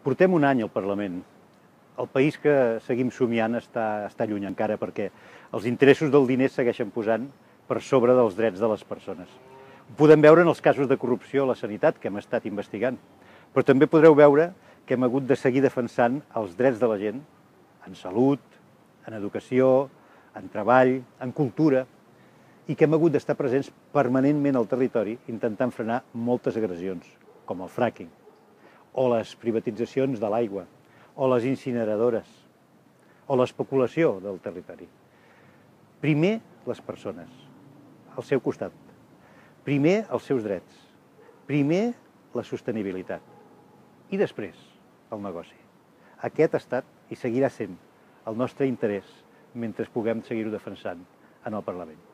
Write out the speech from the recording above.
Portem un any al Parlament. El país que seguim somiant està lluny encara perquè els interessos del diner segueixen posant per sobre dels drets de les persones. Ho podem veure en els casos de corrupció a la sanitat que hem estat investigant, però també podreu veure que hem hagut de seguir defensant els drets de la gent en salut, en educació, en treball, en cultura, i que hem hagut d'estar presents permanentment al territori intentant frenar moltes agressions, com el fracking, o les privatitzacions de l'aigua, o les incineradores, o l'especulació del territori. Primer, les persones, al seu costat. Primer, els seus drets. Primer, la sostenibilitat. I després, el negoci. Aquest ha estat i seguirà sent el nostre interès mentre puguem seguir-ho defensant en el Parlament.